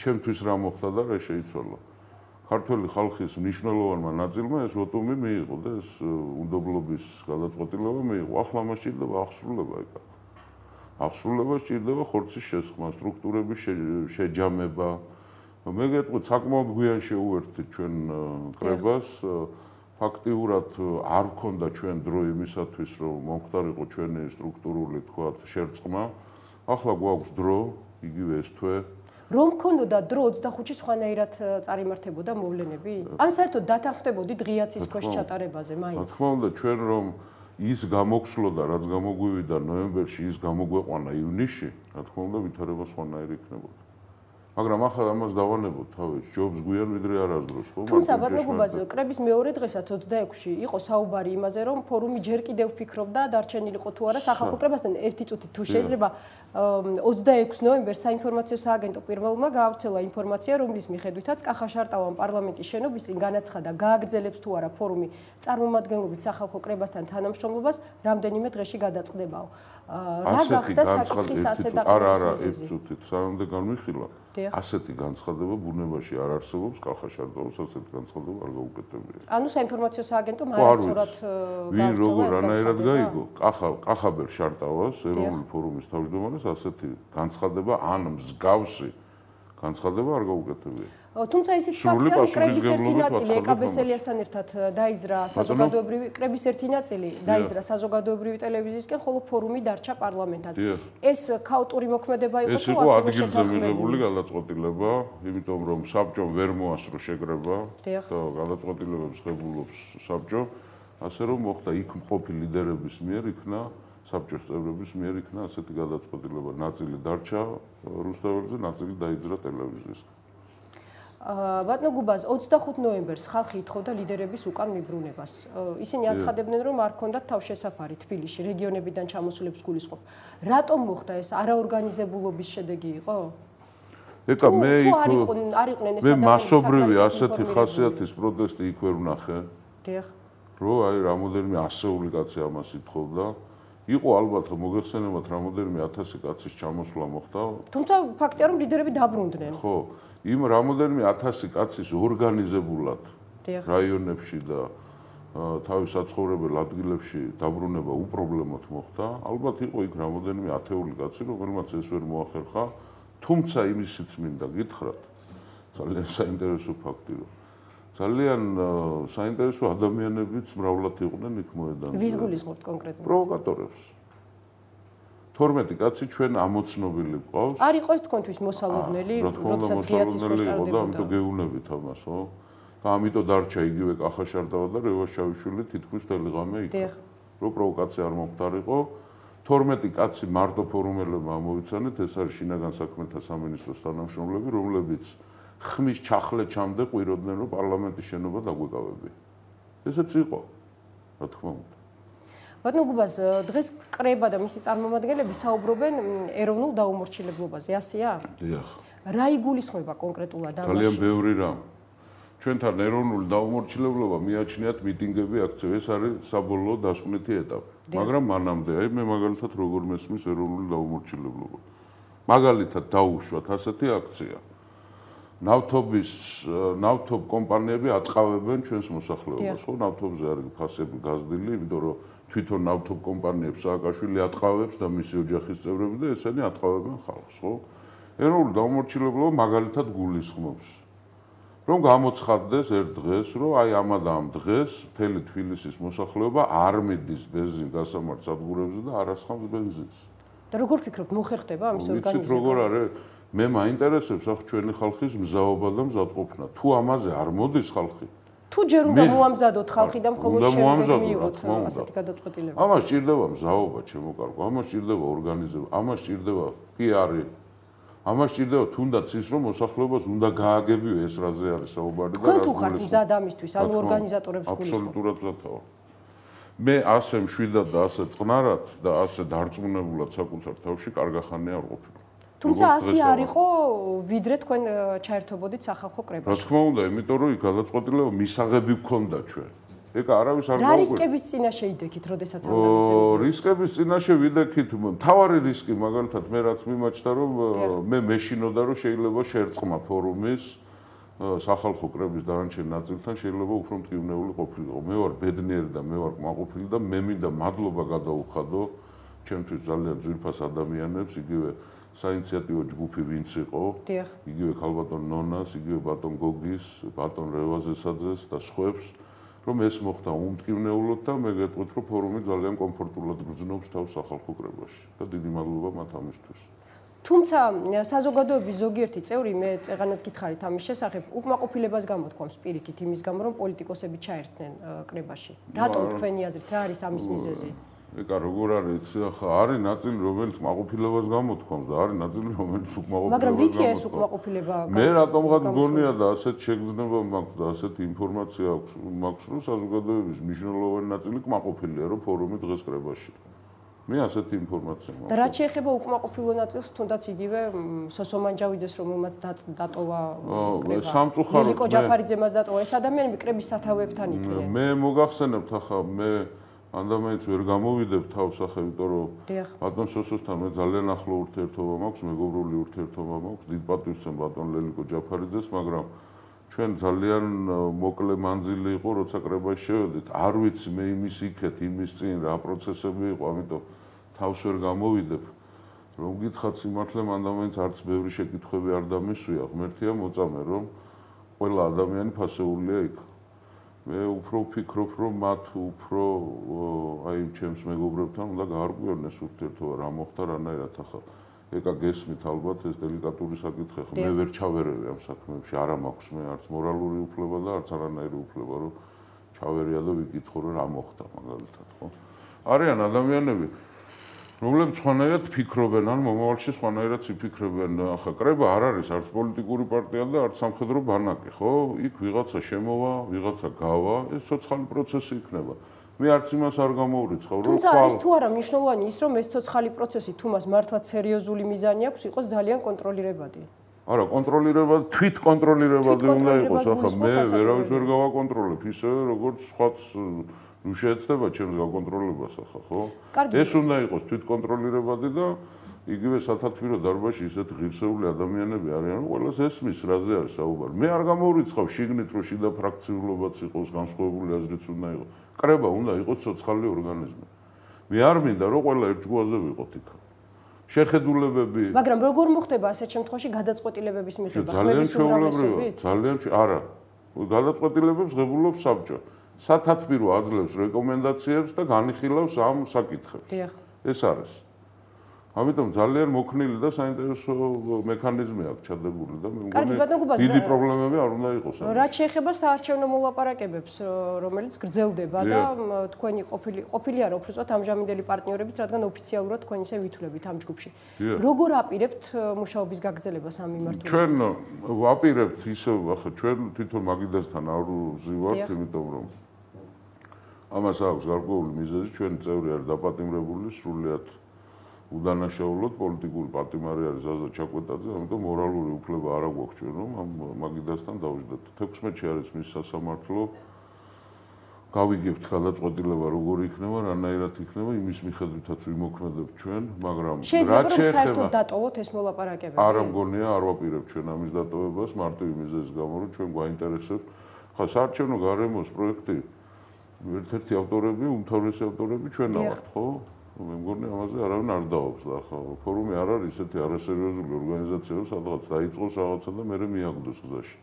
ჩემთვის რა მოხდა და რა შეიცვალა. ქართული ხალხის მნიშვნელოვანმა ნაწილმა ეს ვოტუმი მიიღო და ეს უნდობლობის გადაწყვეტილება მიიღო. ახლა მას სჭირდება აღსრულება ეკა. აღსრულება სჭირდება ხორცის შესხმა, სტრუქტურების შეჯამება. მე გეტყვით, საკმაოდ გვიან შეუერთდით ჩვენ კრებას. ფაქტიურად არ გქონდა ჩვენ დრო იმისათვის, რომ მომხდარიყო ჩვენი სტრუქტურული თქვათ შერწყმა. ახლა გვაქვს დრო, იგივე ეს თვე. რომ გქონოდა დრო 25-ში სხვანაირად წარიმართებოდა მოვლენები? ან საერთოდ დათანხმდებოდით ღიაცის ქვეშ ჩატარებაზე მაინც? რა თქმა უნდა, ჩვენ რომ ის გამოგვსლოდა, რაც გამოგვივიდა ნოემბერში, ის გამოგვეყვანა ივნისში, რა თქმა უნდა, ვითარება სხვანაირი იქნებოდა. მაგრამ ახლა ამას დავანებოთ თავის ჯობს გვიან ვიდრე არასდროს, ხო? თუმცა ბატონო გუბაზ, კრების მეორე დღესაც 26-ში იყო საუბარი იმაზე, რომ ფორუმი ჯერ კიდევ ფიქრობდა დარჩენილიყო თუ არა სახალხო კრებასთან ერთი წუთით თუ შეიძლება 26 ნოემბერს საინფორმაციო სააგენტო პირველმა გაავრცელა ინფორმაცია, რომლის მიხედვითაც კახაშარტავამ პარლამენტის შენობის წინ განაცხადა, გააგრძელებს თუ არა ფორუმი წარმომადგენლობით სახალხო კრებასთან თანამშრომლობას რამდენიმე დღეში გადაწყდებაო. რა გახდა საკითხის ასე დაყენების მიზეზი? ერთი წუთით სანამდე განვიხილა. ასეთი განცხადება ბუნებაში არ არსებობს, კახაშარტაოს ასეთი განცხადება არ გაუკეთებია. ანუ საინფორმაციო სააგენტომ არასწორად ვინ როგორ რანაირად გაიგო? კახაბერ შარტავას ეროვნული ფორუმის თავმჯდომარეს ასეთი განცხადება ან მსგავსი განცხადება არ გაუკეთებია. თუმცა ისიც ფაქტია, რომ კრების ერთი ნაწილი ეკაბესელიასთან ერთად დაიძრა საზოგადოებრივი კრების ერთი ნაწილი დაიძრა საზოგადოებრივი ტელევიზიისკენ, ხოლო ფორუმი დარჩა პარლამენტად. ეს ქაოტური მოქმედება იყო თუ ასე ადგილზე მიღებული გადაწყვეტილება, იმიტომ რომ საბჭომ ვერ მოასწრო შეკრება და გადაწყვეტილებებს ღებულობს საბჭო, ასე რომ მოხდა იქ მყოფი ლიდერების მიერ იქნა საბჭოს წევრების მიერ იქნა ასეთი გადაწყვეტილება. ნაწილი დარჩა რუსთაველზე, ნაწილი დაიძრა ტელევიზიისკენ. ბატონო გუბაზ, 25 ნოემბერს ხალხი ითხოვდა ლიდერების უკან მიბრუნებას. ისინი აცხადებდნენ, რომ არ ჰქონდათ თავშესაფარი თბილისში, რეგიონებიდან ჩამოსულებს გულისხმობ. რატომ მოხდა ეს? არაორგანიზებულობის შედეგი იყო? ეკა მე არიყვნენ ეს მე მასობრივი ასეთი ხასიათის პროტესტი იქ ვერ ვნახე. დიახ. რო აი რამოდენიმე ასეული კაცი ამას ითხოვდა. იყო ალბათ მოგეხსენებათ რამოდენიმე 1000 კაცის ჩამოსვლა მოხდა. თუმცა ფაქტია, რომ ლიდერები დაბრუნდნენ. ხო, იმ რამოდენიმე 1000 კაცის ორგანიზებულად რაიონებში და თავის საცხოვრებელ ადგილებში დაბრუნება უპრობლემოდ მოხდა. ალბათ იყო იქ რამოდენიმე ათეული კაცი, რომელმაც ეს ვერ მოახერხა. თუმცა იმისიც მინდა გითხრათ, ძალიან საინტერესო ფაქტი რომ ძალიან საინტერესო ადამიანებიც მრავლად იყვნენ იქ მოედანზე. ვის გულისხმობთ კონკრეტულად? პროვოკატორებს. 12 კაცი ჩვენ ამოცნობილი გვყავს. არ იყო ეს თქვენთვის მოსალოდნელი, როდესაც ღიაცის ქვეშ ტარდებოდა, ამიტომ გეუნებით ამას, ხო? და ამიტომ დარჩა იგივე კახაშარტავა და რევაშაიშვილი თითქმის მთელი ღამე იქ. რომ პროვოკაცია არ მომხდარიყო. 12 კაცი მარტო ფორუმელებმა ამოვიცანეთ, ეს არის შინაგან საქმეთა სამინისტროს თანამშრომლები, რომლებიც ხმის ჩახლეჩამდე ყვიროდნენ, რომ პარლამენტის შენობა დაგვეკავებია. ესეც იყო, რა თქმა უნდა. ბატონო გუბაზ, დღეს კრება და მისი წარმომადგენლები საუბრობენ ეროვნულ დაუმორჩილებლობაზე, ასეა? დიახ. რა იგულისხმება კონკრეტულად ამაში? ძალიან ბევრი რამ. ჩვენთან ეროვნული დაუმორჩილებლობა მიაჩნიათ მიტინგები, აქციები, ეს არის საბოლოო დასკვნითი ეტაპი. მაგრამ მანამდე, აი მე მაგალითად როგორ მესმის ეროვნული დაუმორჩილებლობა. მაგალითად დაუშვათ ასეთი აქცია. ნავთობ კომპანიები ატყავებენ ჩვენს მოსახლეობას, ხო? ნავთობზე არის ფასები გაზრდილი, იმიტომ რომ თვითონ ნავთობ კომპანიებს სააკაშვილი ატყავებს და მისი ოჯახის წევრები და ესენი ატყავებენ ხალხს, ხო? ეროვნული დაუმორჩილებლობა მაგალითად გულისხმობს, რომ გამოცხადდეს ერთ დღეს, რომ აი ამა და ამ დღეს მთელი თბილისის მოსახლეობა არ მიდის ბენზინ გასამართ სადგურებზე და არ ასხამს ბენზინს. და როგორ ფიქრობთ, მოხერხდება ამის ორგანიზება? ვიცით როგორ არის? მე მაინტერესებს ახ ჩვენი ხალხის მზაობა და მზადყოფნა. თუ ამაზე არ მოდის ხალხი, თუ ჯერ უნდა მოამზადოთ ხალხი და მხოლოდ შემდგომ მიიღოთ ასეთი გადაწყვეტილება. ამას სჭირდება მზაობა, ჩემო კარგო, ამას სჭირდება ორგანიზება, ამას სჭირდება PR-ი. ამას სჭირდება თუნდაც ის, რომ მოსახლეობას უნდა გააგებიო ეს რაზე არის საუბარი და თქვენ თუ ხართ მზად ამისთვის, ანუ ორგანიზატორებს გულისხმობთ? აბსოლუტურად მზადია. მე ასე მშვიდად და ასე წყნარად და ასე დარწმუნებულად საკუთარ თავში კარგახანია არ ყოფილი. თუმცა ასე არ იყო, ვიდრე თქვენ ჩაერთობოდით სახალხო კრებაში. რა თქმა უნდა, იმიტომ რომ იქ გადაწყვეტილება მისაღები გქონდა ჩვენ. ეკა არავის არ გაუკვირდა. რა რისკების წინაშე იდექით, როდესაც ამ რისკების წინაშე ვიდექით, მთავარი რისკი მაგალითად მე რაც მიმაჩნდა რომ მე მეშინოდა რომ შეიძლება შერწყმა ფორუმის სახალხო კრების დანარჩენ ნაწილთან შეიძლება უფრო მტკივნეული ყოფილიყო. მე ვარ ბედნიერი და მე ვარ კმაყოფილი და მე მინდა მადლობა გადაუხადო ჩემთვის ძალიან ძვირფას ადამიანებს, იგივე საინიციატივო ჯგუფი ვინც იყო, იგივე ქალბატონ ნონას, იგივე ბატონ გოგის, ბატონ რევაზესაძეს და სხვებს, რომ ეს მოხდა უმტკივნეულოდ და მე გეტყვით, რომ ფორუმი ძალიან კომფორტულად გრძნობს თავს სახალხო კრებაში და დიდი მადლობა მათ ამისთვის. თუმცა საზოგადოების ზოგიერთი წევრი მე წეღანაც გითხარით ამის შესახებ უკმაყოფილებას გამოთქვამს პირიქით იმის გამო რომ პოლიტიკოსები ჩაერთნენ კრებაში. რატომ თქვენი აზრით რა არის ამის მიზეზი? ეკა როგორ არის ახლა არის ნაწილი რომელიც კმაყოფილებას გამოთქვამს და არის ნაწილი რომელიც უკმაყოფილებას მაგრამ ვითია ეს უკმაყოფილება მე რატომღაც გონია და ასეთ შეგრძნება მაქვს და ასეთი ინფორმაცია მაქვს რომ საზოგადოების მნიშვნელოვანი ნაწილი კმაყოფილია რომ ფორუმი დღეს კრებაში მე ასეთი ინფორმაცია მაქვს და რაც შეეხება უკმაყოფილო ნაწილს თუნდაც იგივე სოსომანჯავიძეს რომელმაც დატოვა კრება სამწუხაროდ ნიკო ჯაფარიძემაც დატოვა ეს ადამიანები კრების სათავეებთან იყვნენ მე მოგახსენებთ ახლა მე ანდამაინც ვერ გამოვიდებ თავს ახლა იმიტომ რომ ბატონ სოსოსთან მე ძალიან ახლო ურთიერთობა მაქვს მეგობრული ურთიერთობა მაქვს დიდ პატივს ბატონ ლელიკო ჯაფარიძეს მაგრამ ჩვენ ძალიან მოკლე მანძილი იყო როცა კრებაში შევედით არ ვიცი მე იმის იქეთ იმის წინ რა პროცესები იყო ამიტომ თავს ვერ გამოვიდებ რომ გითხათ სიმართლე მანდამაინც არც ბევრი შეკითხვები არ დამისვია ღმერთია მოწამე რომ ყველა ადამიანი ფასეულია იქ მე უფრო ვფიქრობ რომ მათ უფრო აი ჩემს მეგობრებთან უნდა გაარკვიონ ეს ურთიერთობა რა მოხდა რანაირად ახლა ეკა გესმით ალბათ ეს დელიკატური საკითხი ხო მე ვერ ჩავერევი ამ საქმეებში არა მაქვს მე არც მორალური უფლება და არც არანაირი უფლება რომ ჩავერია და ვიკითხო რომ რა მოხდა მაგალითად ხო არიან ადამიანები რომლებიც სხვანაირად ფიქრობენ ან მომავალში სხვანაირად იფიქრებენ ახლა კრება არ არის არც პოლიტიკური პარტია და არც სამხედრო ბანაკი ხო იქ ვიღაცა შემოვა ვიღაცა გავა ეს ცოცხალი პროცესი იქნება მე არც იმას არ გამოვრიცხავ რომ თუმცა ის თუ არა მნიშვნელოვანი ის რომ ეს ცოცხალი პროცესი თუ მას მართლაც სერიოზული მიზანი აქვს იყოს ძალიან კონტროლირებადი არა კონტროლირებადი თვით კონტროლირებადი უნდა იყოს ახლა მე ვერავის ვერ გავაკონტროლებ ისე როგორც სხვაც ნუ შეეცდება ჩემს გაკონტროლებას ახლა ხო ეს უნდა იყოს თვით კონტროლირებადი და იგივე სათათბირო დარბაზში ისეთ ღირსეული ადამიანები არიან რომ ყველას ესმის რაზე არის საუბარი მე არ გამოვრიცხავ შიგნით რომ შიდა ფრაქციულობაც იყოს განსხვავებული აზრიც უნდა იყოს კრება უნდა იყოს ცოცხალი ორგანიზმი მე არ მინდა რომ ყველა ერთ ჯგუფზე ვიყოთ იქ შეხედულებები მაგრამ როგორ მოხდება ასეთ შემთხვევაში გადაწყვეტილებების მიღება ხმების უმრავლესობით ძალიან არა გადაწყვეტილებებს ღებულობს საბჭო სათათბირო აძლევს რეკომენდაციებს და განიხილავს ამ საკითხებს ეს არის ამიტომ ძალიან მოქნილი და საინტერესო მექანიზმი აქვს ჩადებული და მე მგონი დიდი პრობლემები არ უნდა იყოს. რაც შეეხება საარჩევნო მოლაპარაკებებს, რომელიც გრძელდება და თქვენი ყოფილი არა უბრალოდ ამჟამინდელი პარტნიორებით, რადგან ოფიციალურად თქვენ ისე ვითვლებით ამ ჯგუფში. როგორ აპირებთ მუშაობის გაგრძელებას ამ მიმართულებით? ჩვენ ვაპირებთ ისე, ახლა ჩვენ თვითონ მაგიდასთან არ ვზივართ, იმიტომ რომ ამას აქვს გარკვეული მიზეზი, ჩვენი წევრი არის დაპატიმრებული სრულიად უდანაშაულოდ პოლიტიკური პატიმარი არის ზაზა ჩაკვეტაძე, ამიტომ მორალური უფლება არ აქვს ჩვენ რომ ამ მაგიდასთან დავждდეთ. 16-ში არის მის სასამართლო. გავიგებთ გადაწყვეტილება როგორ იქნება, რანაირად იქნება, იმის მიხედვითაც ვიმოქმედებთ ჩვენ, მაგრამ რაც შეეხება დატოვოთ ეს მოლაპარაკებები. არ მგონია არ ვაპირებთ ჩვენ ამის დატოვებას მარტივი მიზეზის გამო, რომ ჩვენ გვაინტერესებს. ხა საარჩევნო გარემოს პროექტი ერთ-ერთი ავტორები, უმთავრესი ავტორები ჩვენ ვართ, ხო? მე მგონი ამაზე არავინ არ დავობს და ახლა ფორუმი არ არის ესეთი არასერიოზული ორგანიზაცია, რომ სადღაც დაიწყოს რაღაცა და მერე მიაგდოს გზაში.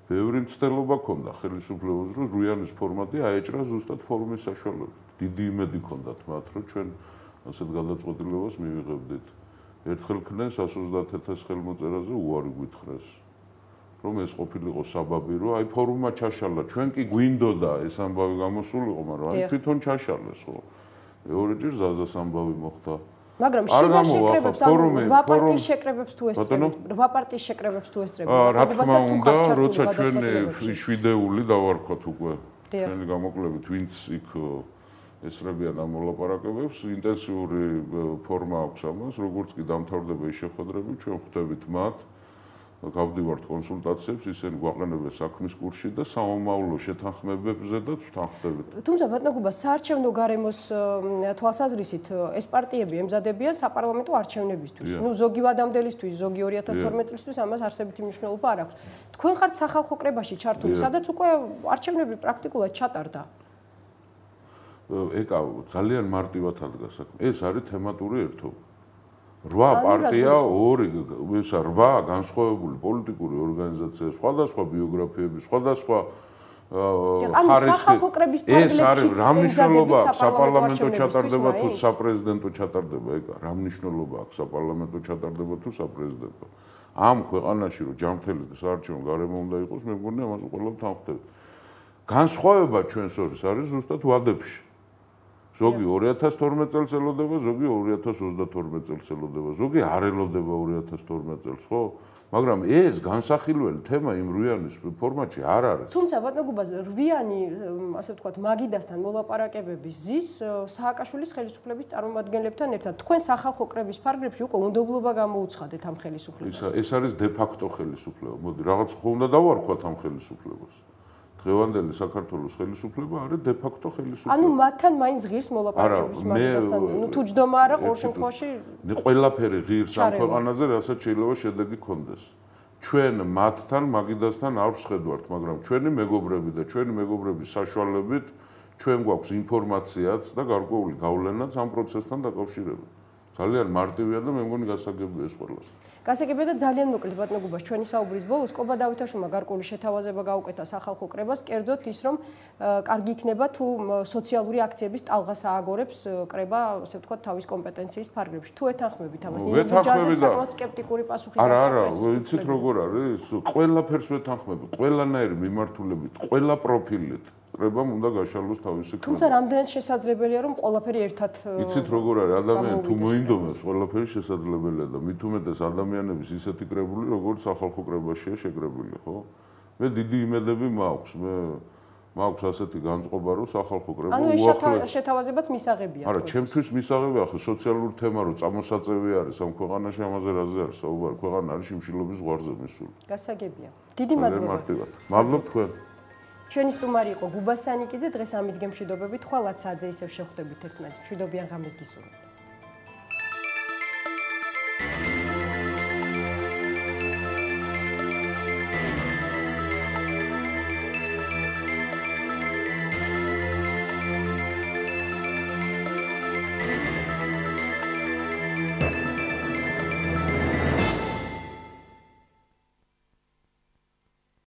ბევრი მცდელობა ქონდა ხელისუფლებას, რომ რუიანის ფორმატი აეჭრა ზუსტად ფორუმის საშუალებით. დიდი იმედი ქონდათ მათ, რომ ჩვენ ასეთ გადაწყვეტილებას მივიღებდით. ერთხელ ქნეს 130,000 ხელმოწერაზე უარი გვითხრეს. რომ ეს ყოფილიყო საბაბი, რომ აი ფორუმმა ჩაშალა. ჩვენ კი გვინდოდა ეს ამბავი გამოსულიყო, მაგრამ აი თვითონ ჩაშალეს ხო. მეორეჯერ ზაზას ამბავი მოხდა. მაგრამ შიდა შეკრებებს რვა პარტიის შეკრებებს თუ ესწრებთ, რვა პარტიის შეკრებებს თუ ესწრებთ. რა თქმა უნდა, როცა ჩვენი შვიდეული დავარქვათ უკვე. ჩვენი გამოკლებით ვინც იქ ესწრებიან ამ მოლაპარაკებებს, ინტენსიური ფორმა აქვს ამას, როგორც კი დამთავრდება ეს შეხვედრები, ჩვენ ხვდებით მათ გავდივართ კონსულტაციებს, ისინი გვაყენებენ საქმის კურსში და სამომავლო შეთანხმებებზე და ვთანხმდებით. თუმცა ბატონო გუბა, საარჩევნო გარემოს თვალსაზრისით ეს პარტიები ემზადებიან საპარლამენტო არჩევნებისთვის. ნუ ზოგი ვადამდელისთვის, ზოგი 2012 წლისთვის ამას არსებითი მნიშვნელობა არ აქვს. თქვენ ხართ სახალხო კრებაში ჩართული, სადაც უკვე არჩევნები პრაქტიკულად ჩატარდა. ეკა ძალიან მარტივად ადგა საქმე. ეს არის თემატური ერთობა. 8 პარტია, 8 განსხვავებული პოლიტიკური ორგანიზაცია, სხვადასხვა ბიოგრაფიები, სხვადასხვა ხარისხი. ეს არის რა მნიშვნელობა აქვს საპარლამენტო ჩატარდება თუ საპრეზიდენტო ჩატარდება, ეკა რა მნიშვნელობა აქვს საპარლამენტო ჩატარდება თუ საპრეზიდენტო. ამ ქვეყანაში რომ ჯანმრთელი საარჩევნო გარემო უნდა იყოს, მე მგონი ამას ყველა ვთანხმდებით. განსხვავება ჩვენს შორის არის ზუსტად ვადებში. ზოგი 2012 წელს ელოდება, ზოგი 2022 წელს ელოდება, ზოგი არ ელოდება 2012 წელს, ხო? მაგრამ ეს განსახილველი თემა იმ რვიანის ფორმატში არ არის. თუმცა ბატონო გუბა, რვიანი, ასე ვთქვათ, მაგიდასთან მოლაპარაკებების ზის სააკაშვილის ხელისუფლების წარმომადგენლებთან ერთად თქვენ სახალხო კრების ფარგლებში უკვე უნდობლობა გამოუცხადეთ ამ ხელისუფლებას. ეს არის დე ფაქტო ხელისუფლება. მოდი, რაღაც ხო უნდა დავარქვათ ამ ხელისუფლებას. დღევანდელი საქართველოს ხელისუფლება არის დე ფაქტო ხელისუფლება. ანუ მათთან მაინც ღირს მოლაპარაკების მაგიდასთან, ნუ თუ ჯდომა არა ყოველ შემთხვევაში. ყველაფერი ღირს ამ ქვეყანაზე, რასაც შეიძლება შედეგი გქონდეს. ჩვენ მათთან მაგიდასთან არ ვსხედვართ, მაგრამ ჩვენი მეგობრები და ჩვენი მეგობრების საშუალებით ჩვენ გვაქვს ინფორმაციაც და გარკვეული გავლენაც ამ პროცესთან დაკავშირებით. ძალიან მარტივია და მე მგონი გასაგებია ეს ყველას. გასაგებია და ძალიან მოკლედ ბატონო გუბა, ჩვენი საუბრის ბოლოს კობა დავითაშვილმა გარკვეული შეთავაზება გაუკეთა სახალხო კრებას, კერძოდ ის რომ კარგი იქნება თუ სოციალური акციების ტალღას ააგორებს კრება, ასე ვთქვათ, თავის კომპეტენციის ფარგლებში. თუ ეთანხმებით ამას, ნინოჯაძე საკმაოდ სკეპტიკური პასუხი არა, ვიცით როგორ არის? ყველაფერს ვეთანხმები, ყველანაირი მიმართულებით, ყველა პროფილით. კრებამ უნდა გაშალოს თავისი ქმედება. თუმცა რამდენად შესაძლებელია რომ ყველაფერი ერთად იცით როგორ არის ადამიანი თუ მოინდომებს ყველაფერი შესაძლებელია და მით უმეტეს ადამიანების ისეთი კრებული როგორც სახალხო კრებაშია შეკრებილი, ხო? მე დიდი იმედები მაქვს, მაქვს ასეთი განწყობა რომ სახალხო კრება უახლოეს. ანუ ეს შეთავაზებაც მისაღებია. არა, ჩემთვის მისაღებია, ხო, სოციალური თემა რო წამოსაწევი არის ამ ქვეყანაში, ამაზე რაზე არის საუბარი? ქვეყანა არის შიმშილობის ზღვარზე მისული. გასაგებია. დიდი მადლობა. მადლობ თქვენ. ჩვენი სტუმარი იყო გუბა სანიკიძე, დღეს ამით გემშვიდობებით, ხვალაც საათზე ისევ შევხვდებით ერთმანეთს. მშვიდობიან ღამეს გისურვებთ.